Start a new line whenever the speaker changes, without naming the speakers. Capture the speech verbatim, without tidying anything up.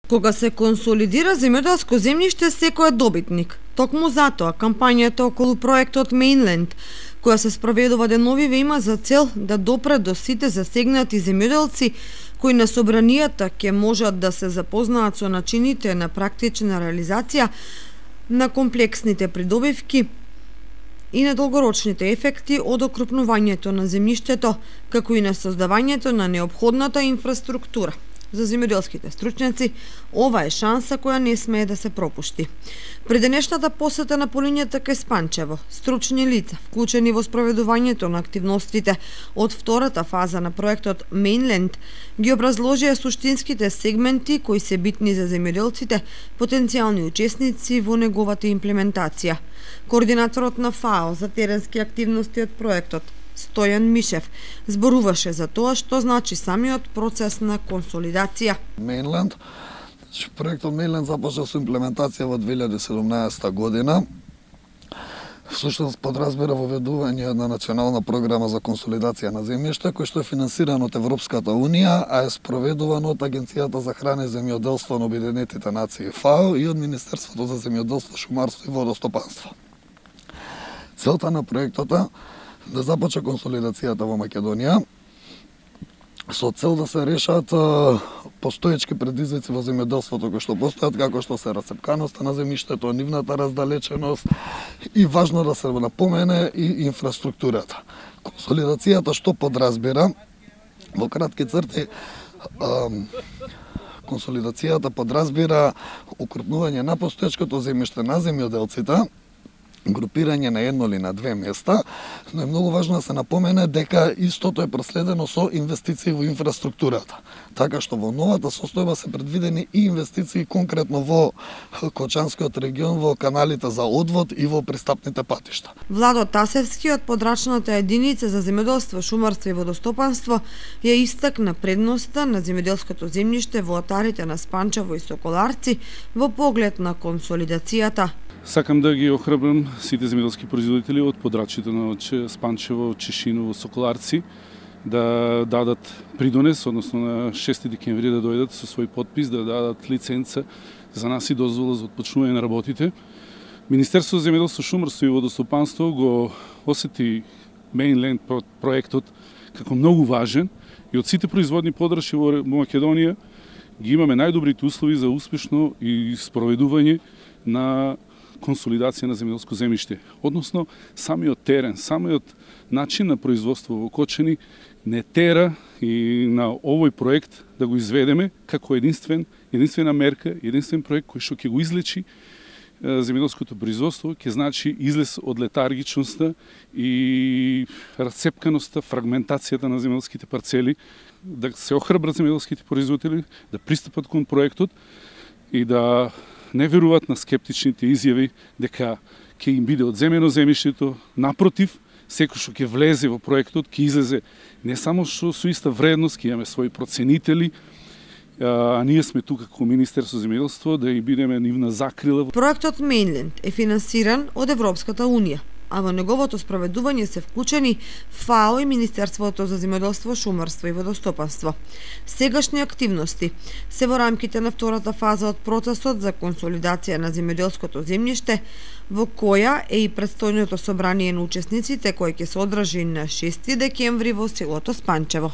Кога се консолидира земјоделско земјиште, секој е добитник. Токму затоа, кампањата околу проектот Mainland, која се спроведува деновиве, има за цел да допре до сите засегнати земјоделци кои на собранијата ќе можат да се запознаат со начините на практична реализација на комплексните придобивки и на долгорочните ефекти од окрупнувањето на земјиштето, како и на создавањето на неопходната инфраструктура. За земјоделските стручњаци, ова е шанса која не смее да се пропушти. При денешната посета на полињата кај Спанчево, стручни лица, вклучени во спроведувањето на активностите од втората фаза на проектот Mainland, ги образложија суштинските сегменти кои се битни за земјоделците, потенцијални учесници во неговата имплементација. Координаторот на ФАО за теренски активности од проектот, Стојан Мишев, зборуваше за тоа што значи самиот процес на консолидација.
Mainland, проектот Mainland започна со имплементација во две илјади и седумнаесета година. Всушност подразбира воведување на национална програма за консолидација на земјиште, кој што е финансиран од Европската унија, а е спроведуван од Агенцијата за храна и земјоделство на Обединетите нации ФАО и од Министерството за земјоделство, шумарство и водостопанство. Целта на проектот е да започне консолидацијата во Македонија со цел да се решат постоечки предизвици во земјоделството кои што постојат, како што се расцепканоста на земјиштето, нивната раздалеченост и важно да се напомене и инфраструктурата. Консолидацијата што подразбира во кратки црти, консолидацијата подразбира укрупнување на постоечкото земјиште на земјоделците, групирање на едно или на две места, но е многу важно да се напомене дека истото е проследено со инвестиции во инфраструктурата. Така што во новата состојба се предвидени и инвестиции конкретно во Кочанскиот регион, во каналите за одвод и во пристапните патишта.
Владо Тасевски од подрачната единица за земјоделство, шумарство и водостопанство ја истакна предноста на земјоделското земјиште во атарите на Спанчево и Соколарци во поглед на консолидацијата.
Сакам да ги охрабрам сите земјоделски производители од подрачите на Спанчево, Чешиново, Соколарци да дадат придонес, односно на шести декември да дојдат со свој подпис, да дадат лиценца за нас и дозвола за отпочнување на работите. Министерството за земјоделство, шумарство и водостопанство го осети Mainland проектот како многу важен и од сите производни подрачи во Македонија ги имаме најдобрите услови за успешно и спроведување на консолидација на земјоделско земјиште. Односно, самиот терен, самиот начин на производство во Кочани не тера и на овој проект да го изведеме како единствен, единствена мерка, единствен проект кој што ќе го излечи земјоделското производство, ќе значи излез од летаргичноста и расцепканоста, фрагментацијата на земјоделските парцели, да се охрабрат земјоделските производители, да пристапат кон проектот и да не веруваат на скептичните изјави дека ќе им биде одземено земјиштето. Напротив, секој што ќе влезе во проектот ќе излезе не само што со иста вредност, ќе имаме своји проценители, а ние сме тука како Министерство за земјоделство да и бидеме нивна закрила.
Проектот Mainland е финансиран од Европската унија, а во неговото спроведување се вклучени ФАО и Министерството за земјоделство, шумарство и водостопанство. Сегашни активности се во рамките на втората фаза од процесот за консолидација на земјоделското земјиште, во која е и предстојното собрание на учесниците кој ќе се одржи на шести декември во селото Спанчево.